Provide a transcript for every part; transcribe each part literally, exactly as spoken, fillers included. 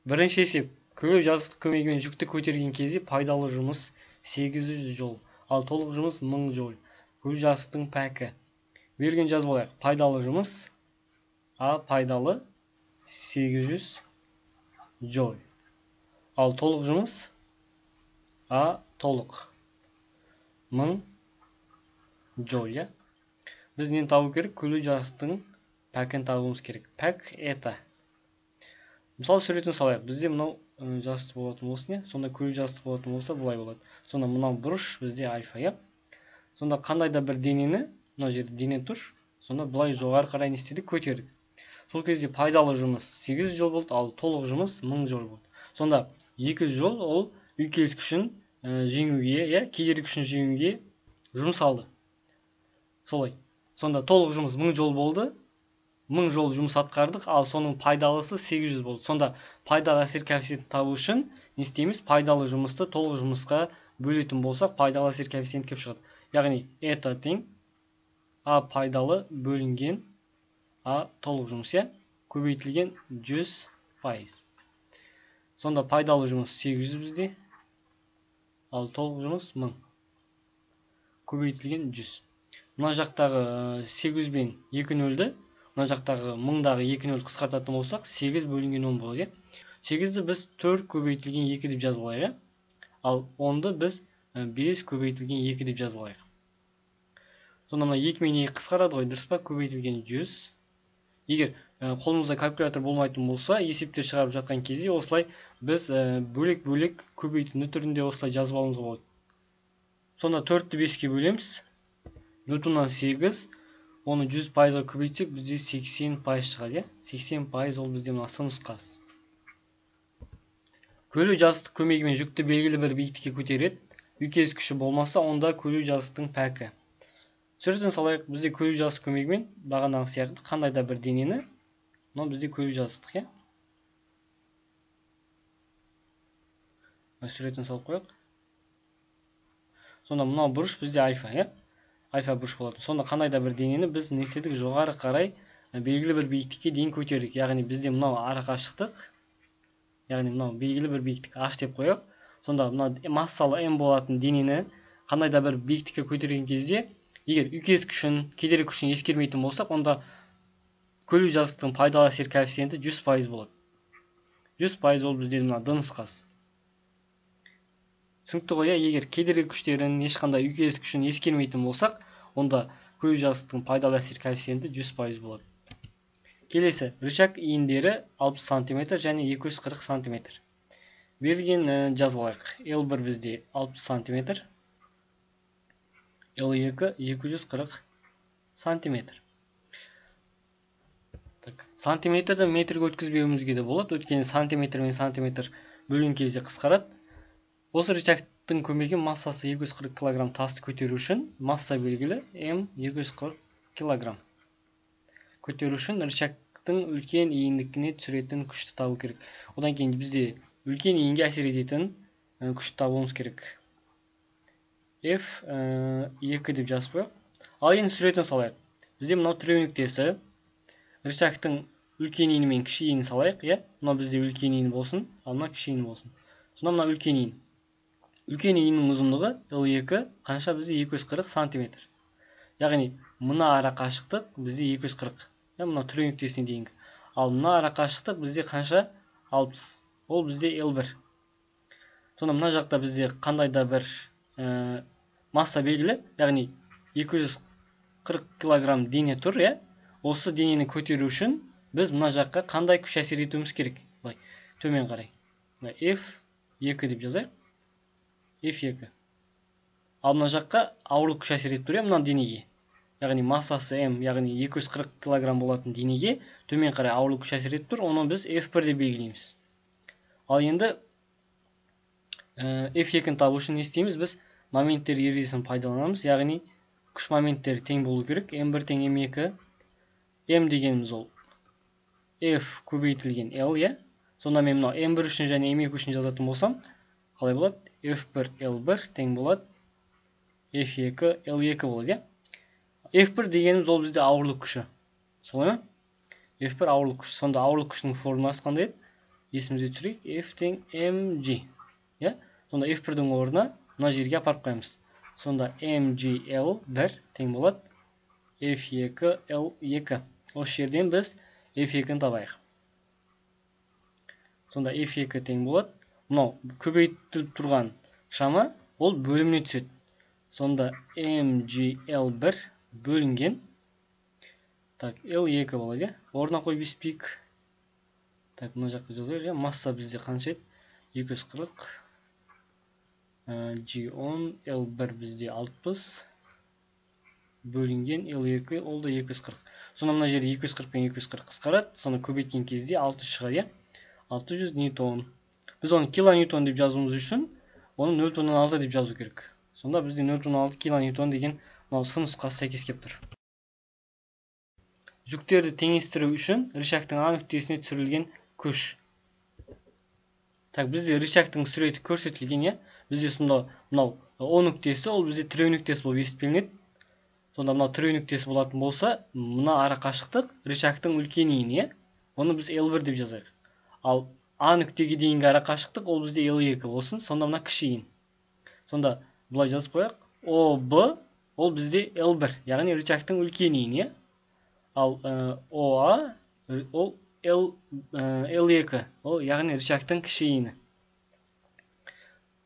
Бірінші есеп. Күлі жазықтық көмегімен жүкті көтерген кезде пайдалы жұмыс сегіз жүз жол, ал толық жұмыс мың жол. Күлі жазықтың пәкі. Берген жазып алайық. Пайдалы жұмыс А пайдалы сегіз жүз жол. Ал толық жұмыс А толық мың жол, я? Біз нені табу керек? Күлі жазықтың пәкін табуымыз керек. Пәк это. Мысалы суретін салайық. Бізде мынау жазық болатын болсын, сонда күлі жазық болатын болса, бұлай болады. Сонда мынау бұрыш бізде альфа, я? Сонда қандай да бір денені, мынау жерде дене тұр, сонда бұлай жоғары қарай не істедік, көтердік. Сол кезде пайдалы жұмыс сегіз жүз жол болды, ал толық жұмыс мың жол болды. Сонда екі жүз жол ол үйкеліс күшін жеңуге, я, кедергі күшін жеңуге жұмсалды. Солай. Сонда толық жұмыс мың жол болды. мың жол жұмыс атқардық, ал соның пайдалысы сегіз жүз болды. Сонда пайдалы әсер коэффициентін табу үшін не істейміз? Пайдалы жұмысты толық жұмысқа бөлетін болсақ, пайдалы әсер коэффициенті келіп шығады. Яғни это тең А пайдалы бөлінген А толық жұмыс, я? Көбейтілген жүз пайыз. Сонда пайдалы жұмыс сегіз жүз бізде, ал толық жұмыс мың. Көбейтілген жүз. Мына жақтағы сегіз бен екі нөлді, мына жақтағы мыңдағы екі нөл қысқартатын болсақ, сегіз бөлінген он болады. сегізді біз төрт көбейтілген екі деп жазып алайық. Ал онды біз бес көбейтілген екі деп жазып алайық. Сонда мына екі мен екі қысқарады ғой, дұрыс па? Көбейтілген жүз. Егер қолымызда калькулятор болмайтын болса, есептер шығарып жатқан кезде осылай біз бөлек-бөлек көбейтінді түрінде осылай жазып алуымызға болады. Сонда төртті беске бөлеміз. Бүтіннен сегіз, оны жүз пайызға көбейтсек, бізде сексен пайыз шығады. сексен пайыз ол бізде мына сын нұсқасы. Күлі жазықтық көмегімен жүкті белгілі бір биіктікке көтереді. Үйкеліс күші болмаса, онда күлі жазықтың пәкі. Суретін салайық, бізде күлі жазықтық көмегімен бағанағы сияқты қандай да бір денені, мынау бізде күлі жазықтық, я? Суретін салып қояйық. Сонда мынау бұрыш бізде альфа, я? Альфа бұрыш болады. Сонда қандай да бір денені біз не істедік? Жоғары қарай белгілі бір биіктікке дейін көтердік. Яғни бізде мынау арақашықтық, яғни мынау белгілі бір биіктік H деп қояйық. Сонда мынау массалы М болатын денені қандай да бір биіктікке көтерген кезде, егер үйкеліс күшін, кедергі күшін ескермейтін болсақ, онда күлі жазықтың пайдалы әсер коэффициенті жүз пайыз болады. жүз пайыз ол бізде мына д нұсқасы. Түсінікті ғой, егер кедергі күштерін, ешқандай үйкеліс күшін ескермейтін болсақ, онда күлі жазықтың пайдалы әсер коэффициенті жүз пайыз болады. Келесі, рычаг иіндері алпыс сантиметр және екі жүз қырық сантиметр. Берілген жазып алайық. Л бір бізде алпыс сантиметр, Л екі екі жүз қырық сантиметр. Сантиметрді метрге өткізбеуімізге де болады, өйткені сантиметр мен сантиметр бөлген кезде қысқарады. Осы рычагтың көмегімен массасы екі жүз қырық килограмм тасты көтеру үшін, масса белгілі М екі жүз қырық килограмм. Көтеру үшін рычагтың үлкен иіндікіне түсіретін күшті табу керек. Одан кейін бізде үлкен иінге әсер ететін күшті табуымыз керек. F екі деп жазып қояйық. Ал енді суретін салайық. Бізде мынау тіреу нүктесі. Рычагтың үлкен иіні мен кіші иінін салайық, я? Мынау бізде үлкен иін болсын, ал мына кіші иін болсын. Сонда мына үлкен иін. Үлкен иіннің ұзындығы Л екі қанша бізде екі жүз қырық сантиметр. Яғни мына арақашықтық бізде екі жүз қырық. Мына тіреу нүктесіне дейінгі. Ал мына арақашықтық бізде қанша? алпыс. Ол бізде Л бір. Сонда мына жақта бізде қандай да бір масса белгілі, яғни екі жүз қырық килограмм дене тұр, я? Осы денені көтеру үшін біз мына жаққа қандай күш әсер етуіміз керек? Төмен қарай. F екі деп жазайық. F екі. Ал мына жаққа ауырлық күш әсер етіп тұр, мына денеге. Яғни массасы М, яғни екі жүз қырық килограмм болатын денеге төмен қарай ауырлық күш әсер етіп тұр, оны біз F бір деп белгілейміз. Ал енді F екіні табу үшін не істейміз? Біз моменттер ережесін пайдаланамыз, яғни күш моменттері тең болу керек. М бір тең М екі. М дегеніміз ол F көбейтілген L, я? Сонда мен мынау М бір үшін және М екі үшін жазатын болсам, қалай болады? F бір L бір тең болады F екі L екі болады, я? F бір дегеніміз ол бізде ауырлық күші. Солай ма? F бір ауырлық күші. Сонда ауырлық күшінің формуласы қандай еді? есімізге түсірейік, F тең mg. Я? Сонда эф бірдің орнына мына жерге апарып қоямыз. Сонда mgl бір тең болады эф екі эл екі. Осы жерден біз эф екіні табайық. Сонда эф екі тең болады. Мынау көбейтіліп тұрған шама ол бөліміне түседі. Сонда mgl бір бөлінген. Так, эл екі болады. Орнына қойып еспейік. Так, мына жаққа жазайық. Масса бізде қанша еді? екі жүз қырық. джи он, эл бір бізде алпыс. Бөлінген эл екі ол да екі жүз қырық. Сонда мына жерде екі жүз қырық пен екі жүз қырық қысқарады. Соны көбейткен кезде алты жүз шығады. алты жүз ньютон. Біз оны килоньютон деп жазуымыз үшін, оны нөл бүтін оннан алты деп жазу керек. Сонда бізде нөл бүтін оннан алты килоньютон деген сын нұсқасы сәйкес келіп тұр. Жүктерді теңестіру үшін рычагтың А нүктесіне түсірілген күш. Так, бізде рычагтың суреті көрсетілген, е? Бізде сонда мынау О нүктесі, ол бізде тіреу нүктесі болып есептелінеді. Сонда мынау тіреу нүктесі болатын болса, мына ара қашықтық рычагтың үлкен иіні, оны біз эл бір деп жазайық. Ал А нүктеге дейінгі ара қашықтық ол бізде эл екі болсын, сонда мына кіші иін. Сонда бұлай жазып қояйық. о бэ ол бізде эл бір, яғни рычагтың үлкен иіні. Ал о а ол эл екі, ол яғни рычагтың кіші иіні.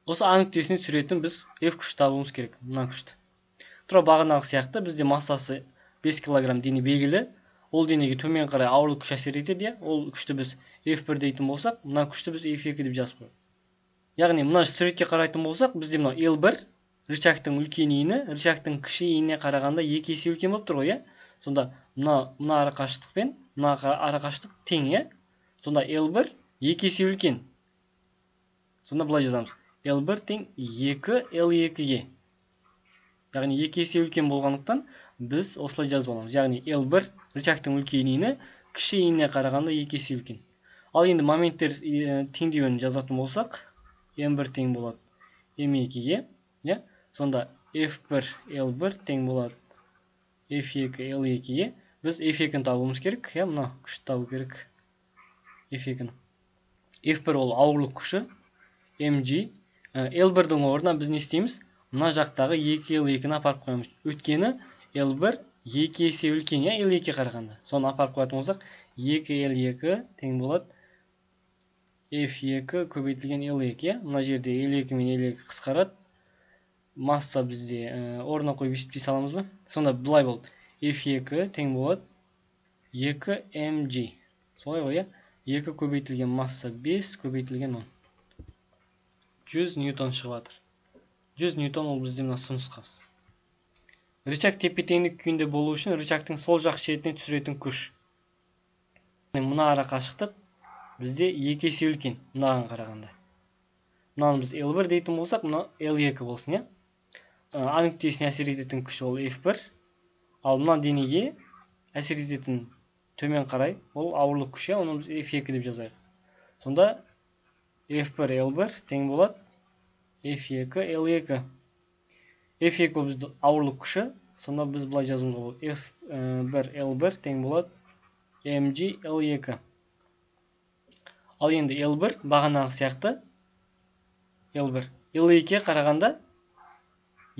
Осы А нүктесіне түсіретін біз F күшті табуымыз керек, мына күшті. Тұра бағанағы сияқты бізде массасы бес килограмм дене белгілі. Ол денеге төмен қарай ауырлық күш әсер етеді. Ол күшті біз эф бір дейтін болсақ, мына күшті біз эф екі деп жазып қояйық. Яғни мына суретке қарайтын болсақ, бізде мына эл бір рычагтың үлкен иіні, рычагтың кіші иініне қарағанда екі есе үлкен болып тұр ғой, е? Сонда мына мына ара қашықтық пен мына ара қашықтық тең, е? Сонда эл бір екі есе үлкен. Сонда былай жазамыз. эл бір тең екі эл екіге. Яғни екі есе үлкен болғандықтан біз осылай жазып аламыз. Яғни эл бір рычагтың үлкен иіні, кіші иініне қарағанда екі есе үлкен. Ал енді моменттер теңдеуін жазатын болсақ, эм бір тең болады эм екіге. Сонда эф бір эл бір тең болады эф екі эл екіге. Біз эф екіні табуымыз керек. Мына күшті табу керек. эф екіні. эф бір ол ауырлық күші. mg. эл бірдің орнына біз не істейміз? Мына жақтағы екі эл екіні апарып қоямыз. Өткені эл бір екі есе үлкен, эл екіге қарағанда. Соны апарып қоятын болсақ, екі эл екі тең болады эф екі көбейтілген эл екі. Мына жерде эл екі мен эл екі қысқарады. Масса бізде орнына қойып есептей саламыз ба? Сонда былай болды. эф екі тең болады екі mg. Солай ғой, екі көбейтілген масса бес көбейтілген он. жүз ньютон шығып жатыр. жүз ньютон ол бізде мына сын нұсқасы. Рычаг тепе-теңдік күйінде болу үшін рычагтың сол жақ шетіне түсіретін күш. Мына ара қашықтық бізде екі есе үлкен, мынаған қарағанда. Мынаны біз эл бір дейтін болсақ, мына эл екі болсын, е? А нүктесіне әсер ететін күш ол эф бір. Ал мына денеге әсер ететін төмен қарай ол ауырлық күш, оны біз эф екі деп жазайық. Сонда эф бір эл бір тең болады эф екі эл екі. эф екі ол бізді ауырлық күші. Сонда біз бұлай жазуымызға болады. эф бір эл бір тең болады mg эл екі. Ал енді эл бір бағанағы сияқты эл бір эл екіге қарағанда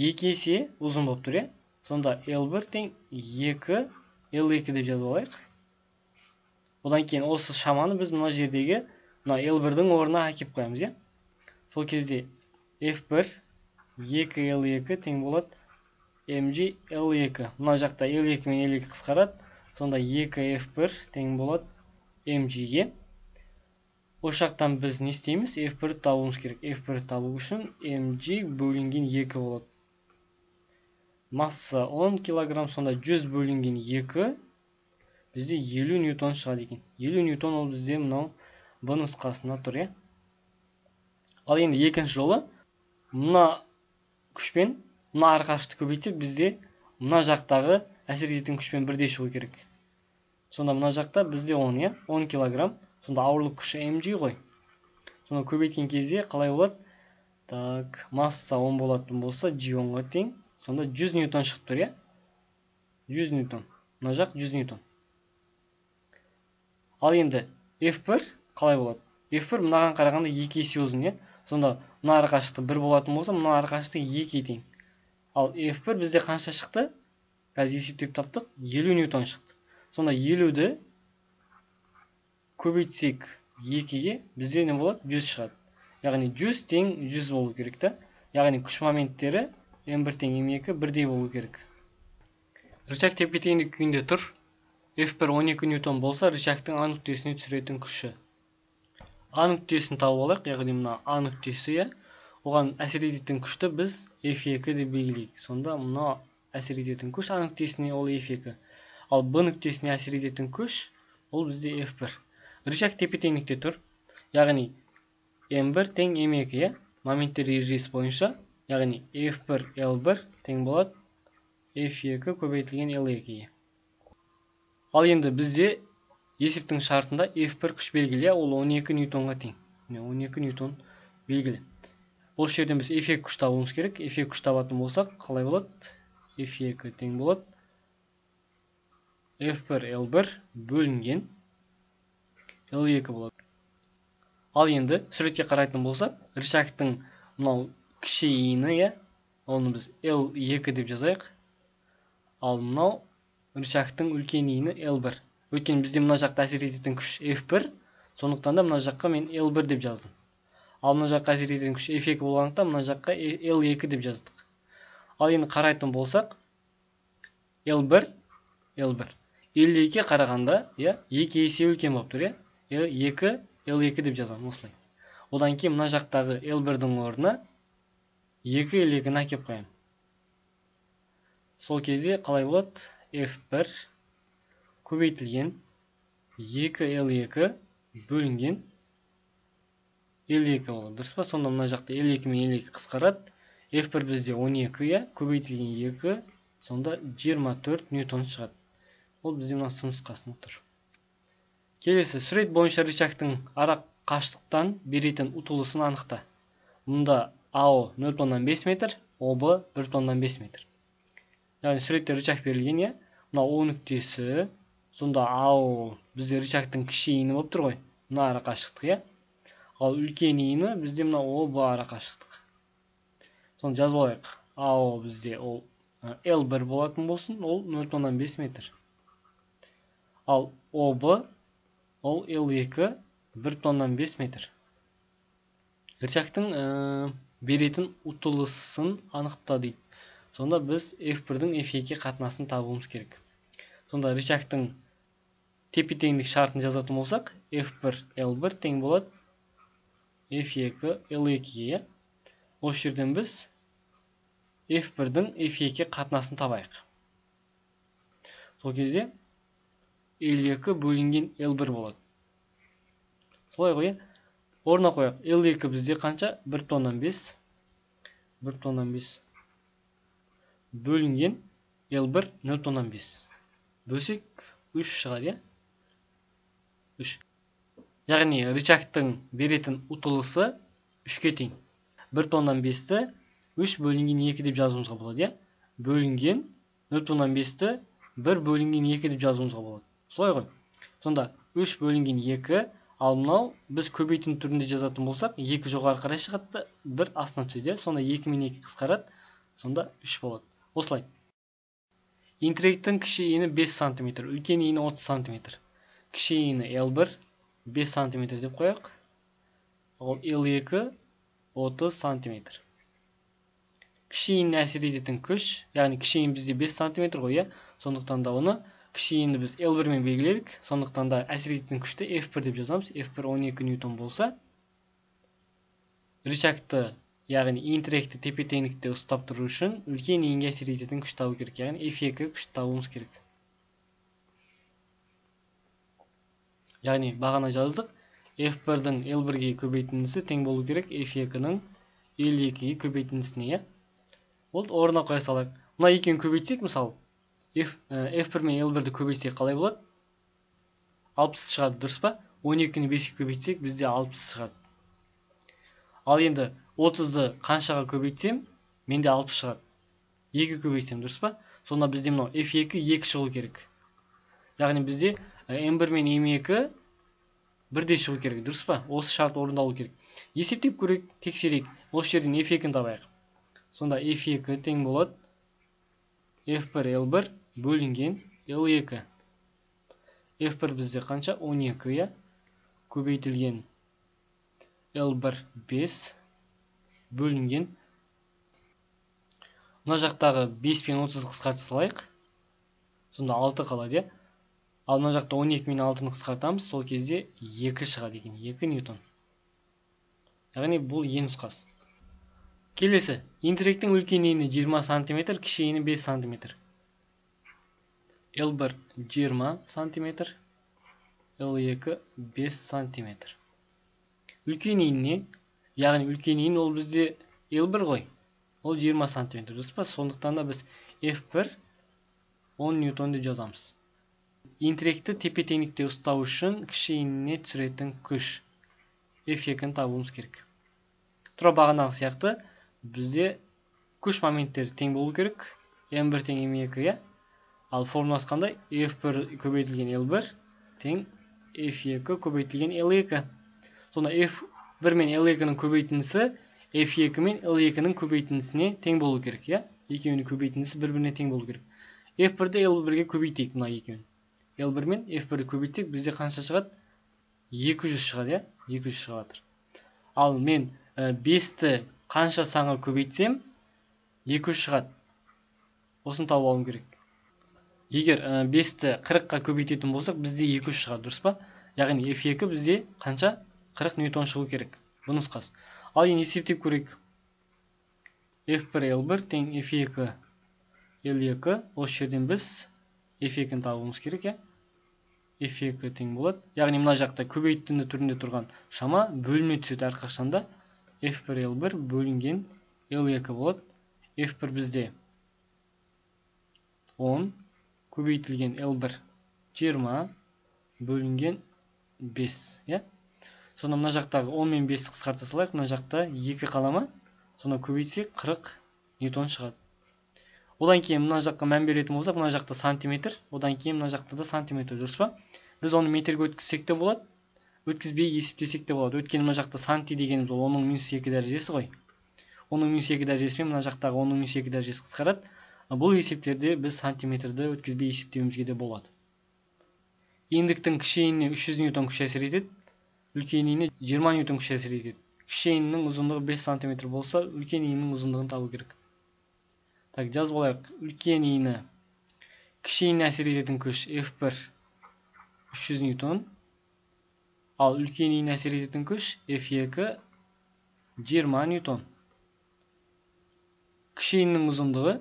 екі есе ұзын болып тұр, е? Сонда эл бір тең екі эл екі деп жазып алайық. Одан кейін осы шаманы біз мына жердегі мына эл бірдің орнына әкеп қоямыз, е? Сол кезде эф бір екі эл екі тең болады mg эл екі. Мына жақта эл екі мен эл екі қысқарады. Сонда екі эф бір тең болады mg-ге. Осы жақтан біз не істейміз? эф бірді табуымыз керек. эф бірді табу үшін mg бөлінген екі болады. Масса он килограмм, сонда жүз бөлінген екі бізде елу ньютон шығады екен. елу ньютон ол бізде мынау Б нұсқасында тұр, е? Ал енді екінші жолы мына күшпен мына ара қашықтықты көбейтсек, бізде мына жақтағы әсер ететін күшпен бірдей шығу керек. Сонда мына жақта бізде он, е? он килограмм. Сонда ауырлық күші mg ғой. Сонда көбейткен кезде қалай болады? Так, масса он болатын болса, джи онға тең. Сонда жүз ньютон шығып тұр, е? жүз ньютон. Мына жақ жүз ньютон. Ал енді эф бір қалай болады? эф бір мынаған қарағанда екі есе ұзын, е. Сонда мына арақашықтық бір болатын болса, мына арақашықтық екі тең. Ал эф бір бізде қанша шықты? Қазір есептеп таптық, елу ньютон шықты. Сонда елуді көбейтсек екіге бізде не болады? жүз шығады. Яғни жүз тең жүз болу керек та. Яғни күш моменттері эм бір тең эм екі бірдей болу керек. Рычаг тепе-теңдік күйінде тұр. эф бір он екі ньютон болса, рычагтың А нүктесіне түсіретін күші. А нүктесін тауып алайық, яғни мына А нүктесі, оған әсер ететін күшті біз эф екі деп белгілейік. Сонда мына әсер ететін күш А нүктесіне ол эф екі. Ал Б нүктесіне әсер ететін күш ол бізде эф бір. Рычаг тепе-теңдікте тұр. Яғни эм бір тең эм екі, моменттер ережесі бойынша, яғни эф бір эл бір тең болады эф екі көбейтілген эл екі. Ал енді бізде есептің шартында эф бір күш белгілі, ол он екі ньютонға тең. он екі ньютон белгілі. Осы жерден біз эф екі күш табуымыз керек. эф екі күш табатын болсақ, қалай болады? эф екі тең болады эф бір эл бір бөлінген эл екі болады. Ал енді суретке қарайтын болсақ, рычагтың мынау кіші иіні, оны біз эл екі деп жазайық. Ал мынау рычагтың үлкен иіні эл бір. Өйткені бізде мына жақта әсер ететін күш эф бір, сондықтан да мына жаққа мен эл бір деп жаздым. Ал мына жаққа әсер ететін күш эф екі болғандықтан мына жаққа эл екі деп жаздық. Ал енді қарайтын болсақ, эл бір эл бір эл екіге қарағанда, екі есе үлкен болып тұр, эл екі эл екі деп жазамын осылай. Одан кейін мына жақтағы эл бірдің орнына екі эл екіні әкеп қоямын. Сол кезде қалай болады? эф бір көбейтілген екі эл екі бөлінген эл екі болады. Дұрыс па? Сонда мына жақта эл екі мен эл екі қысқарады. эф бір бізде он екі, көбейтілген екі, сонда жиырма төрт ньютон шығады. Ол бізде мына сын нұсқасында тұр. Келесі, сурет бойынша рычагтың ара қашықтықтан беретін ұтылысын анықта. Мұнда АО нөл бүтін оннан бес метр, ОБ бір бүтін оннан бес метр. Яғни суретте рычаг берілген, мына О нүктесі, сонда АО бізде рычагтың кіші иіні болып тұр ғой, мына ара қашықтық. Ал үлкен иіні бізде мына ОБ ара қашықтық. Соны жазып алайық. АО бізде ол эл бір болатын болсын, ол нөл бүтін оннан бес метр. Ал ОБ ол эл екі бір бүтін оннан бес метр. Рычагтың беретін ұтылысын анықта дейді. Сонда біз эф бірдің эф екі қатынасын табуымыз керек. Сонда рычагтың тепе-теңдік шартын жазатын болсақ, эф бір эл бір тең болады эф екі эл екіге. Осы жерден біз эф бірдің эф екі қатынасын табайық. Сол кезде эл екі бөлінген эл бір болады. Солай ғой, орнына қояйық. эл екі бізде қанша? бір бүтін оннан бес. бір бүтін оннан бес бөлінген эл бір нөл бүтін оннан бес. Бөлсек үш шығады, үш. Яғни рычагтың беретін ұтылысы үшке тең. бір бүтін оннан бесті үш бөлінген екі деп жазуымызға болады. Бөлінген нөл бүтін оннан бесті бір бөлінген екі деп жазуымызға болады. Солай ғой. Сонда үш бөлінген екі, ал мынау біз көбейтін түрінде жазатын болсақ, екі жоғары қарай шығады, бір астына түседі. Сонда екі мен екі қысқарады, сонда үш болады. Осылай. Интеллектің кіші иіні бес сантиметр, үлкен иіні отыз сантиметр. Кіші иіні эл бір бес сантиметр деп қояйық. Ол эл екі отыз сантиметр. Кіші иініне әсер ететін күш, яғни кіші иін бізде бес сантиметр ғой, сондықтан да оны кіші иінді біз эл бір мен белгіледік. Сондықтан да әсер ететін күшті эф бір деп жазамыз. эф бір он екі ньютон болса, рычагты, яғни иін тіректі тепе-теңдікте ұстап тұру үшін үлкен иінге әсер ететін күш табу керек, яғни эф екі күш табуымыз керек. Яғни бағана жаздық, эф бірдің эл бірге көбейтіндісі тең болу керек эф екінің эл екіге көбейтіндісіне. Ол орнына қоя салайық. Мына екеуін көбейтсек, мысалы, эф бір мен эл бірді көбейтсек қалай болады? алпыс шығады, дұрыс па? он екіні беске көбейтсек, бізде алпыс шығады. Ал енді отызды қаншаға көбейтсем, менде алпыс шығады. екі көбейтсем, дұрыс па? Сонда бізде мынау эф екі екі шығу керек. Яғни бізде эм бір мен эм екі бірдей шығу керек, дұрыс па? Осы шарт орындалу керек. Есептеп көрейік, тексерейік. Осы жерден эф екіні табайық. Сонда эф екі тең болады эф бір эл бір бөлінген эл екі. эф бір бізде қанша? он екі, я? Көбейтілген эл бір бес бөлінген. Мына жақтағы бес пен отыз қысқарта салайық. Сонда алты қалады, я? Ал мына жақта он екі мен алтыны қысқартамыз, сол кезде екі шығады екен, екі ньютон. Яғни бұл е нұсқасы. Келесі, интеректің үлкен ені жиырма сантиметр, кіші ені бес сантиметр. эл бір жиырма сантиметр, эл екі бес сантиметр. Үлкен еніне, яғни үлкен ен ол бізде эл бір ғой. Ол жиырма сантиметр, дұрыс па? Сондықтан да біз эф бір он ньютон деп жазамыз. Интеректі тепе-теңдікте ұстау үшін кіші еніне түсіретін күш эф екіні табуымыз керек. Тура бағанағы сияқты бізде күш моменттері тең болу керек. эм бір тең эм екі, я? Ал формуласы қандай? эф бір көбейтілген эл бір тең эф екі көбейтілген эл екі. Сонда эф бір мен эл екінің көбейтіндісі эф екі мен эл екінің көбейтіндісіне тең болу керек, я? Екеуінің көбейтіндісі бір-біріне тең болу керек. эф бірді эл бірге көбейтейік, мына екеуін. эл бір мен эф бірді көбейтсек, бізде қанша шығады? екі жүз шығады, я? екі жүз шығады. Ал мен бесті қанша санға көбейтсем, екі жүз шығады. Осын тауып алуым керек. Егер бесті қырыққа көбейтетін болсақ, бізде екі жүз шығады, дұрыс па? Яғни эф екі бізде қанша? қырық ньютон шығу керек. Бұл нұсқасы. Ал енді есептеп көрейік. эф бір эл бір тең эф екі эл екі. Осы жерден біз эф екіні табуымыз керек, я? эф екі тең болады. Яғни мына жақта көбейтінді түрінде тұрған шама бөліне түседі әрқашанда. эф бір эл бір бөлінген эл екі болады. эф бір бізде он көбейтілген эл бір жиырма бөлінген бес, я? Сонда мына жақтағы он мен бесті қысқарта салайық, мына жақта екі қалама. Сонда көбейтсек қырық ньютон шығады. Одан кейін мына жаққа мән беретін болсақ, мына жақта сантиметр, одан кейін мына жақта да сантиметр, дұрыс па? Біз оны метрге өткізсек те болады, өткізбей есептесек те болады. Өйткені мына жақта санти дегеніміз ол онның минус екі дәрежесі ғой. онның минус екі дәрежесімен мына жақтағы онның минус екі дәрежесі қысқарады. Бұл есептерде біз сантиметрді өткізбей есептеуімізге де болады. Ендіктің кіші еніне үш жүз ньютон күш әсер етеді, үлкен еніне жиырма ньютон күш әсер етеді. Кіші енінің ұзындығы бес сантиметр болса, үлкен енінің ұзындығын табу керек. Так, жазып алайық. Үлкен ені кіші еніне әсер ететін күш эф бір үш жүз ньютон. Ал үлкен еніне әсер ететін күш эф екі жиырма ньютон. Кіші енінің ұзындығы,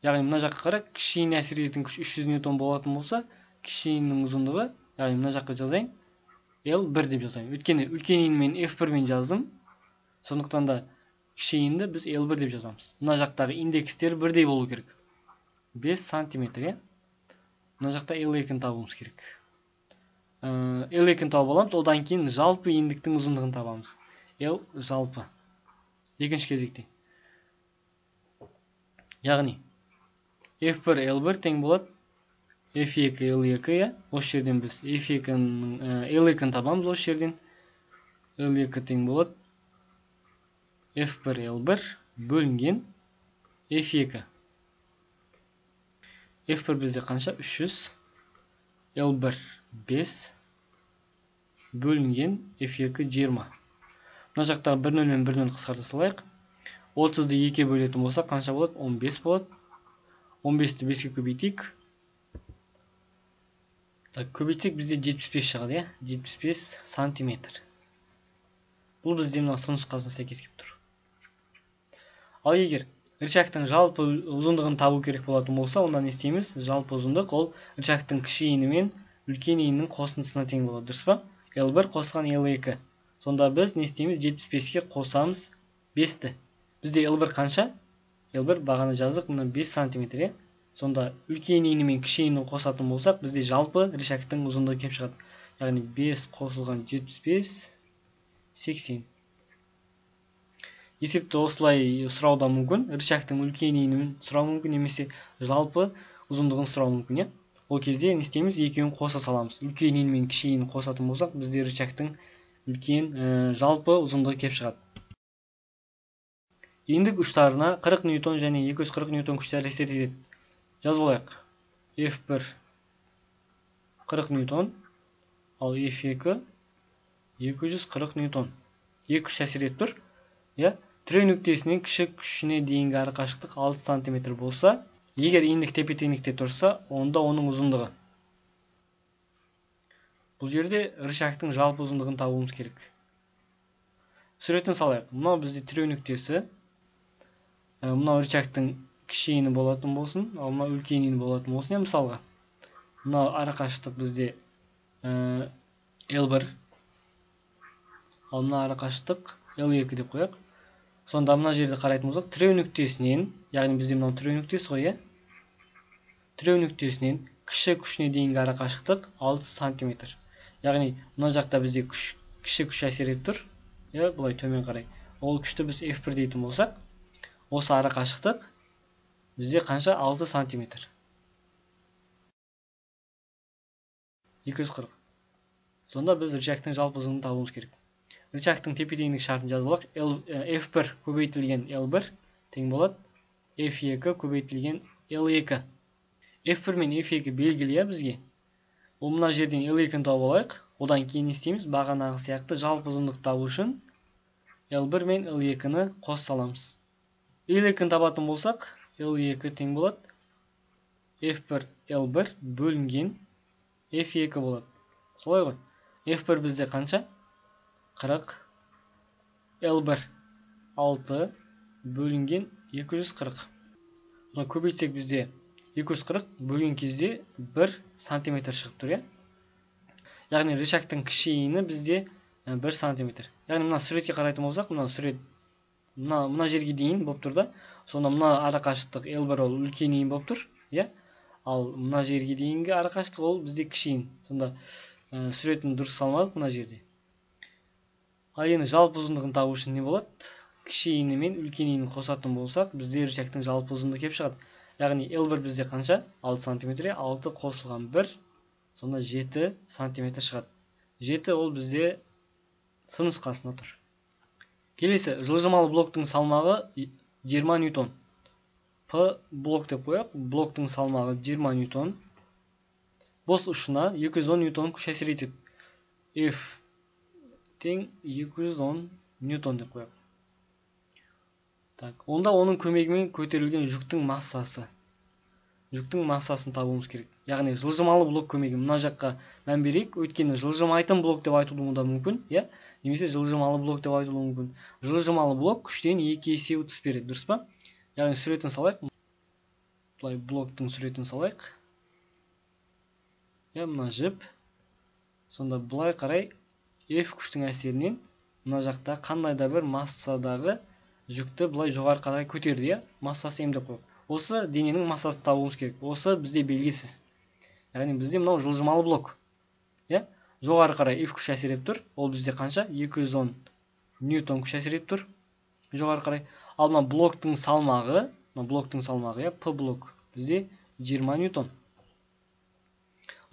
яғни мына жаққа қара, кіші еніне әсер ететін күш үш жүз ньютон болатын болса, кіші енінің ұзындығы, яғни мына жаққа жазайын, эл бір деп жазайын. Өйткені үлкен ені мен эф бір мен жаздым. Сондықтан да кіші енді біз эл бір деп жазамыз. Мына жақтағы индекстер бірдей болу керек. бес сантиметр. Мына жақта эл екіні табуымыз керек. эл екіні тауып аламыз, одан кейін жалпы ендіктің ұзындығын табамыз. L жалпы. Екінші кезекте. Яғни эф бір эл бір тең болады эф екі эл екі. Осы жерден біз эф екінің эл екіні табамыз. Осы жерден эл екі тең болады эф бір эл бір бөлінген эф екі. эф бір бізде қанша? үш жүз. эл бір бес бөлінген эф екі жиырма. Мына жақтағы бір нөл мен бір нөл қысқарта салайық. отызды екіге бөлетін болса қанша болады? он бес болады. он бесті беске көбейтейік. Так, көбейтсек бізде жетпіс бес шығады, я? жетпіс бес сантиметр. Бұл бізде мына сын нұсқасына сәйкес келіп тұр. Ал егер рычагтың жалпы ұзындығын табу керек болатын болса, онда не істейміз? Жалпы ұзындық ол рычагтың кіші ені мен үлкен енінің қосындысына тең болады, дұрыс па? эл бір қосқан эл екі. Сонда біз не істейміз? жетпіс беске қосамыз бесті. Бізде эл бір қанша? эл бір бағана жаздық, мына бес сантиметр. Сонда үлкен ені мен кіші ені қосатын болсақ, бізде жалпы рычагтың ұзындығы кеп шығады. Яғни бес қосылған жетпіс бес сексен. Есепті осылай сұрау да мүмкін. Рычагтың үлкен енін сұрау мүмкін, немесе жалпы ұзындығын сұрау мүмкін. Ол кезде не істейміз? Екеуін қоса саламыз. Үлкен иін мен кіші иін қосатын болсақ, бізде рычагтың үлкен жалпы ұзындығы келіп шығады. Иіндік ұштарына қырық ньютон және екі жүз қырық ньютон күштер әсер етеді. Жазып алайық. эф бір қырық ньютон, ал эф екі екі жүз қырық ньютон. Екі күш әсер етіп тұр. Я, тіреу нүктесінен кіші күшіне дейінгі ары қашықтық алты сантиметр болса, егер иіндік тепе-теңдікте тұрса, онда оның ұзындығы. Бұл жерде рычагтың жалпы ұзындығын табуымыз керек. Суретін салайық. Мынау бізде тіреу нүктесі. Мынау рычагтың кіші иіні болатын болсын, ал мынау үлкен иіні болатын болсын. Мысалға, мынау ара қашықтық бізде эл бір, ал мына ара қашықтық эл екі деп қояйық. Сонда мына жерде қарайтын болсақ, тіреу нүктесінен, яғни бізде мынау тіреу нүктесі ғой, иә? Тіреу нүктесінен кіші күшіне дейінгі ара қашықтық алты сантиметр. Яғни мына жақта бізде кіші күш әсер етіп тұр, иә, бұлай төмен қарай. Ол күшті біз эф бір дейтін болсақ, осы ара қашықтық бізде қанша? алты сантиметр. екі жүз қырық. Сонда біз рычагтың жалпы ұзындығын табуымыз керек. Рычагтың тепе-теңдік шартын жазып алайық. эф бір көбейтілген эл бір тең болады эф екі көбейтілген эл екі. эф бір мен эф екі белгілі бізге. Ол мына жерден эл екіні тауып алайық. Одан кейін істейміз? Бағанағы сияқты жалпы ұзындық табу үшін эл бір мен эл екіні қос саламыз. эл екіні табатын болсақ, эл екі тең болады эф бір эл бір бөлінген эф екі болады. Солай ғой. эф бір бізде қанша? қырық. эл бір алты бөлінген екі жүз қырық. Бұны көбейтсек бізде екі жүз қырық бөлген кезде бір сантиметр шығып тұр, иә? Яғни рычагтың кіші иіні бізде бір сантиметр. Яғни мына суретке қарайтын болсақ, мына сурет мына мына жерге дейін болып тұр да. Сонда мына ара қашықтық эл бір ол үлкен иін болып тұр, иә? Ал мына жерге дейінгі ара қашықтық ол бізде кіші иін. Сонда суретін дұрыс салмадық мына жерде. Ал енді жалпы ұзындығын табу үшін не болады? Кіші иіні мен үлкен иінін қосатын болсақ, бізде рычагтың жалпы ұзындығы келіп шығады. Яғни эл бір бізде қанша? алты сантиметр, алты қосылған бір, сонда жеті сантиметр шығады. жеті ол бізде С нұсқасында тұр. Келесі, жылжымалы блоктың салмағы жиырма ньютон. П блок деп қояйық. Блоктың салмағы жиырма ньютон. Бос ұшына екі жүз он ньютон күш әсер етеді. F тең екі жүз он ньютон деп қояйық. Так, онда оның көмегімен көтерілген жүктің массасы. Жүктің массасын табуымыз керек. Яғни жылжымалы блок көмегі. Мына жаққа мән берейік. Өйткені жылжымайтын блок деп айтылуы да мүмкін, иә? Немесе жылжымалы блок деп айтылуы мүмкін. Жылжымалы блок күштен екі есе ұтыс береді, дұрыс па? Яғни суретін салайық. Бұлай блоктың суретін салайық. Я, мына жіп. Сонда бұлай қарай F күштің әсерінен мына жақта қандай да бір массадағы жүкті бұлай жоғары қарай көтерді, иә? Массасы м деп қойып. Осы дененің массасын табуымыз керек. Осы бізде белгісіз. Яғни бізде мынау жылжымалы блок. Иә? Жоғары қарай F күш әсер етіп тұр. Ол бізде қанша? екі жүз он ньютон күш әсер етіп тұр. Жоғары қарай. Ал мына блоктың салмағы, мына блоктың салмағы, иә, P блок бізде жиырма ньютон.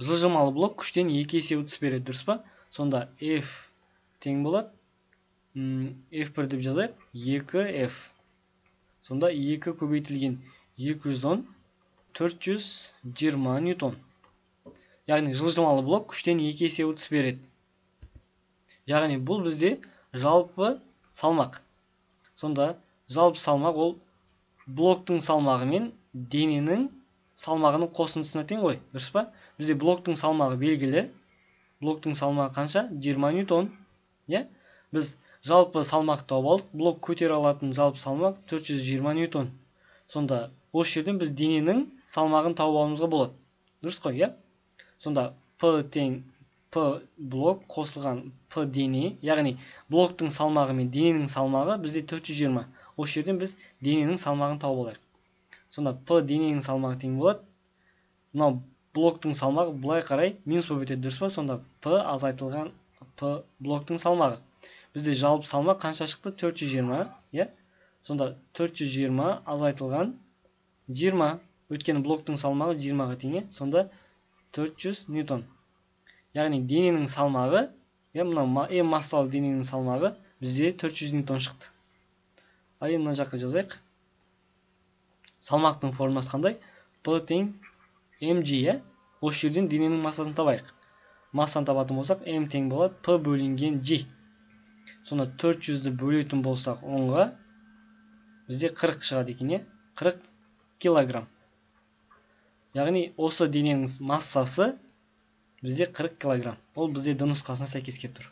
Жылжымалы блок күштен екі есе ұтыс береді, дұрыс па? Сонда F тең болады. эф бір деп жазайық. екі эф. Сонда екі көбейтілген екі жүз он, төрт жүз жиырма ньютон. Яғни жылжымалы блок күштен екі есе ұтыс береді. Яғни бұл бізде жалпы салмақ. Сонда жалпы салмақ ол блоктың салмағы мен дененің салмағының қосындысына тең ғой, дұрыс па? Бізде блоктың салмағы белгілі. Блоктың салмағы қанша? жиырма ньютон. Иә? Біз жалпы салмақ тауып алдық. Блок көтере алатын жалпы салмақ төрт жүз жиырма ньютон. Сонда осы жерден біз дененің салмағын тауып алуымызға болады. Дұрыс қой, иә? Сонда P тең P блок қосылған P дене, яғни блоктың салмағы мен дененің салмағы бізде төрт жүз жиырма. Осы жерден біз дененің салмағын тауып алайық. Сонда P дененің салмағы тең болады. Мынау блоктың салмағы бұлай қарай минус болып өтеді, дұрыс па? Сонда P азайтылған P блоктың салмағы. Бізде жалпы салмақ қанша шықты? төрт жүз жиырма, иә? Сонда төрт жүз жиырма азайтылған жиырма. Өйткені блоктың салмағы жиырмаға тең. Сонда төрт жүз ньютон. Яғни дененің салмағы, е мына М массалы дененің салмағы бізде төрт жүз ньютон шықты. Ал енді мына жаққа жазайық. Салмақтың формуласы қандай? P тең mg, е? Осы жерден дененің массасын табайық. Массаны табатын болсақ, m тең болады P бөлінген G. Сонда төрт жүзді бөлетін болсақ онға бізде қырық шығады екен, е? қырық килограмм. Яғни осы дененің массасы бізде қырық килограмм. Ол бізде д нұсқасына сәйкес келіп тұр.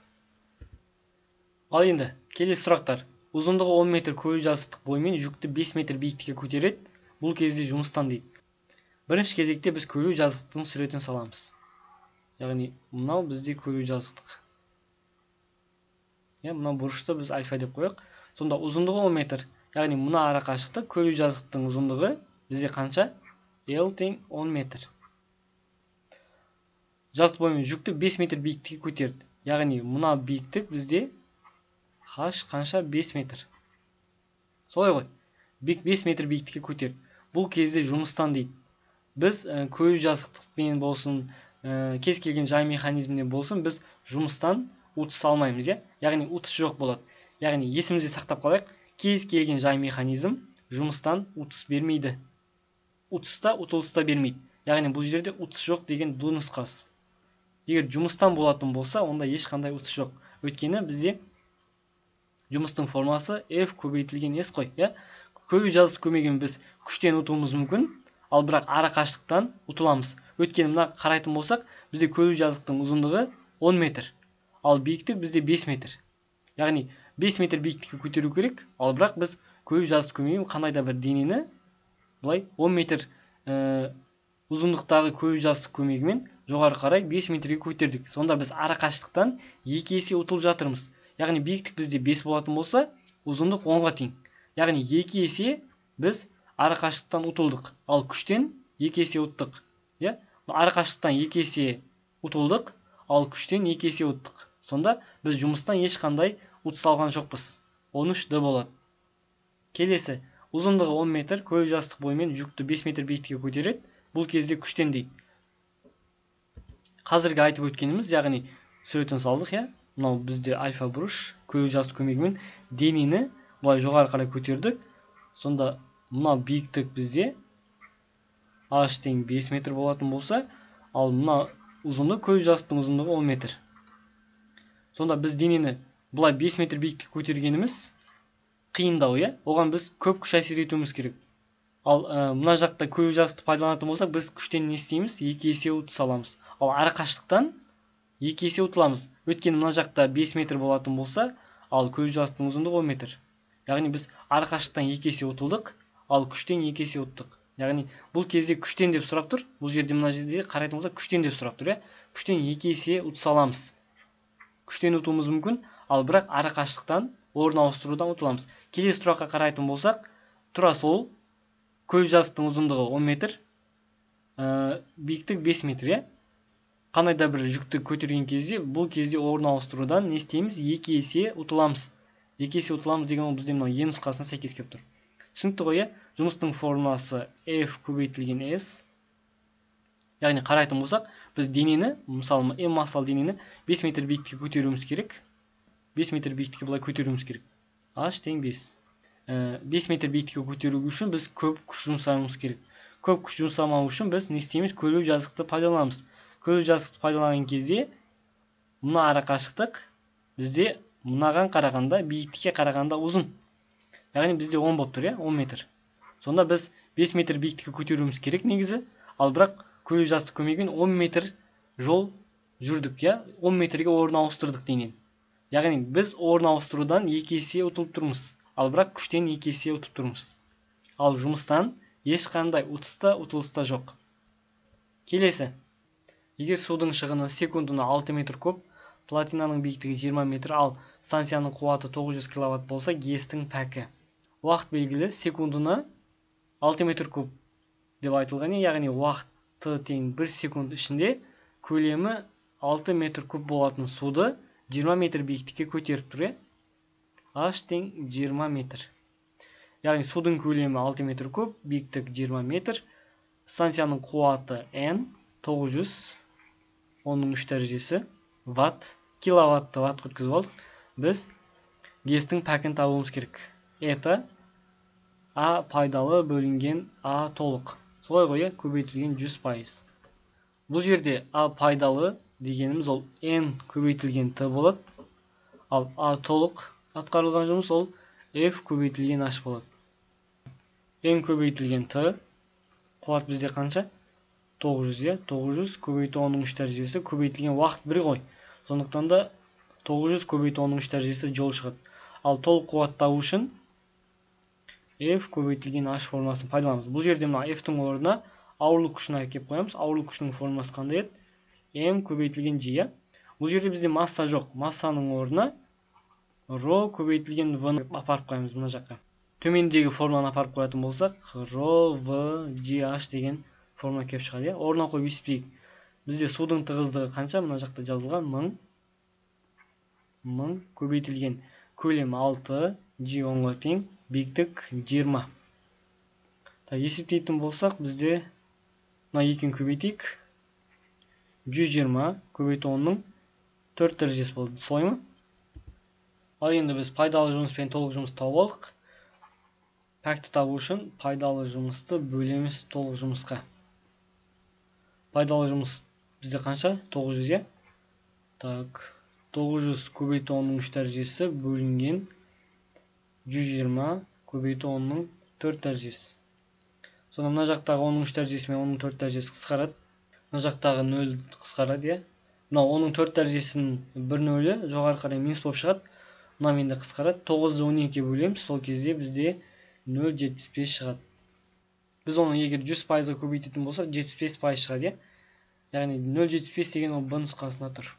Ал енді келесі сұрақтар. Ұзындығы он метр көлік жазықтық бойымен жүкті бес метр биіктікке көтереді. Бұл кезде жұмыстан дейді. Бірінші кезекте біз көлік жазықтықтың суретін саламыз. Яғни мынау бізде көлік жазықтық. Е, мынау бұрышты біз альфа деп қояйық. Сонда ұзындығы он метр. Яғни мына ара қашықтық көлік жазықтықтың ұзындығы бізде қанша? L тең он метр. Жазық бойымен жүкті бес метр биіктікке көтерді. Яғни мына биіктік бізде H қанша? бес метр. Солай ғой. бес метр биіктікке көтерді. Бұл кезде жұмыстан дейді. Біз көлік жазықтықпен болсын, кез келген жай механизміне болсын, біз жұмыстан ұтыс алмаймыз, е? Яғни ұтыс жоқ болады. Яғни есімізде сақтап қалайық, кез келген жай механизм жұмыстан ұтыс бермейді. Ұтыста, ұтылыста бермейді. Яғни бұл жерде ұтыс жоқ деген д нұсқасы. Егер жұмыстан болатын болса, онда ешқандай ұтыс жоқ. Өйткені бізде жұмыстың формасы F көбейтілген S қой, е? Көлік жазықтық көмегімен біз күштен ұтуымыз мүмкін, ал бірақ ара қашықтықтан ұтыламыз. Өйткені мына қарайтын болсақ, бізде көлік жазықтықтың ұзындығы он метр, ал биіктік бізде бес метр. Яғни бес метр биіктікке көтеру керек, ал бірақ біз көлік жазықтық көмегімен қандай да бір денені былай он метр ұзындықтағы көлік жазықтық көмегімен жоғары қарай бес метрге көтердік. Сонда біз ара қашықтықтан екі есе ұтылып жатырмыз. Яғни биіктік бізде бес болатын болса, ұзындық онға тең. Яғни екі есе біз ара қашықтықтан ұтылдық, ал күштен екі есе ұттық. Ара қашықтықтан екі есе ұтылдық, ал күштен екі есе ұттық. Сонда біз жұмыстан ешқандай ұтыс алған жоқпыз. он үш д болады. Келесі, ұзындығы он метр, көлік жазықтық бойымен жүкті бес метр биіктікке көтереді. Бұл кезде күштен дейді. Қазіргі айтып өткеніміз, яғни суретін салдық, я? Мынау бізде альфа бұрыш, көлік жазықтық көмегімен денені бұлай жоғары қарай көтердік. Сонда мына биіктік бізде H тең бес метр болатын болса, ал мына ұзындығы көлік жазықтықтың ұзындығы он метр. Сонда біз денені бұлай бес метр биіктікке көтергеніміз қиындау, е? Оған біз көп күш әсер етуіміз керек. Ал мына жақта көлік жазықтықты пайдаланатын болсақ, біз күштен не істейміз? екі есе ұтыс аламыз. Ал ара қашықтықтан екі есе ұтыламыз. Өйткені мына жақта бес метр болатын болса, ал көлік жазықтықтың ұзындығы он метр. Яғни біз ара қашықтықтан екі есе ұтылдық, ал күштен екі есе ұттық. Яғни бұл кезде күштен деп сұрап тұр. Бұл жерде мына жерде қарайтын болсақ, күштен деп сұрап тұр, е? Күштен екі есе ұтыс аламыз. Күштен ұтуымыз мүмкін, ал бірақ ара қашықтықтан орын ауыстырудан ұтыламыз. Келесі сұраққа қарайтын болсақ, тура сол көлік жазықтықтың ұзындығы он метр, биіктік бес метр, е? Қандай да бір жүкті көтерген кезде, бұл кезде орын ауыстырудан не істейміз? екі есе ұтыламыз. екі есе ұтыламыз деген ол бізде мынау е нұсқасына сәйкес келіп тұр. Түсінікті ғой, е? Жұмыстың формуласы F көбейтілген S. Яғни қарайтын болсақ, біз денені, мысалы М массалы денені бес метр биіктікке көтеруіміз керек. бес метр биіктікке былай көтеруіміз керек. H тең бес. бес метр биіктікке көтеру үшін біз көп күш жұмсауымыз керек. Көп күш жұмсамау үшін біз не істейміз? Көлік жазықтықты пайдаланамыз. Көлік жазықтықты пайдаланған кезде мына ара қашықтық бізде мынаған қарағанда, биіктікке қарағанда ұзын. Яғни бізде он болып тұр, он метр. Сонда біз бес метр биіктікке көтеруіміз керек негізі, ал бірақ көлік жазықтық көмегімен он метр жол жүрдік, он метрге орын ауыстырдық денен. Яғни біз орын ауыстырудан екі есе ұтылып тұрмыз, ал бірақ күштен екі есе ұтып тұрмыз. Ал жұмыстан ешқандай ұтыста, ұтылыста жоқ. Келесі. Егер судың шығыны секундына алты метр куб, платинаның биіктігі жиырма метр, ал станцияның қуаты тоғыз жүз киловатт болса, гестің пәкі. Уақыт белгілі секундына алты метр куб деп айтылған, яғни уақыты тең бір секунд ішінде көлемі алты метр куб болатын суды жиырма метр биіктікке көтеріп тұр. H тең жиырма метр. Яғни судың көлемі алты метр куб, биіктік жиырма метр, станцияның қуаты N, тогуз жүз ондун үч дәрежесі ватт. Киловатты ватт өткізіп алдық. Біз кестің пәкін табуымыз керек. Это А пайдалы бөлінген А толық. Солай ғой, көбейтілген жүз пайыз. Бұл жерде А пайдалы дегеніміз ол N көбейтілген Т болады. Ал А толық атқарылған жұмыс ол F көбейтілген H болады. N көбейтілген Т қуат бізде қанша? тогуз жүз, е? тогуз жүз көбейту онның үч дәрежесі көбейтілген уақыт бір ғой. Сондықтан да тогуз жүз көбейту онның үч дәрежесі жол шығады. Ал толық қуат табу үшін F көбейтілген H формасын пайдаланамыз. Бұл жерде мына F-тің орнына ауырлық күшін әкеп қоямыз. Ауырлық күшінің формасы қандай еді? M көбейтілген G. Бұл жерде бізде масса жоқ. Массаның орнына ρ көбейтілген V-ны апарып қоямыз мына жаққа. Төмендегі форманы апарып қоятын болсақ, ρ V G H деген форма келіп шығады. Орнына қойып есептейік. Бізде судың тығыздығы қанша? Мына жақта жазылған мың. мың көбейтілген көлем алты, G онға тең, биіктік жиырма. Есептейтін болсақ, бізде мына екеуін көбейтейік. жүз жиырма көбейту онның төрт дәрежесі болды. Солай ма? Ал енді біз пайдалы жұмыс пен толық жұмыс тауып алдық. Пәкті табу үшін пайдалы жұмысты бөлеміз толық жұмысқа. Пайдалы жұмыс бізде қанша? тогуз жүз, е? Так, тогуз жүз көбейту онның үч дәрежесі бөлінген жүз жиырма көбейту онның төрт дәрежесі. Сонда мына жақтағы онның үч дәрежесі мен онның төрт дәрежесі қысқарады. Мына жақтағы нөл қысқарады, е? Мына онның төрт дәрежесінің бір нөлі жоғары қарай минус болып шығады. Мына менде қысқарады. тоғызды он екіге бөлеміз. Сол кезде бізде нөл жетпіс бес шығады. Біз оны егер жүз пайызға көбейтетін болсақ, жетпіс бес пайыз шығады, е? Яғни нөл жетпіс бес деген ол Б нұсқасында тұр.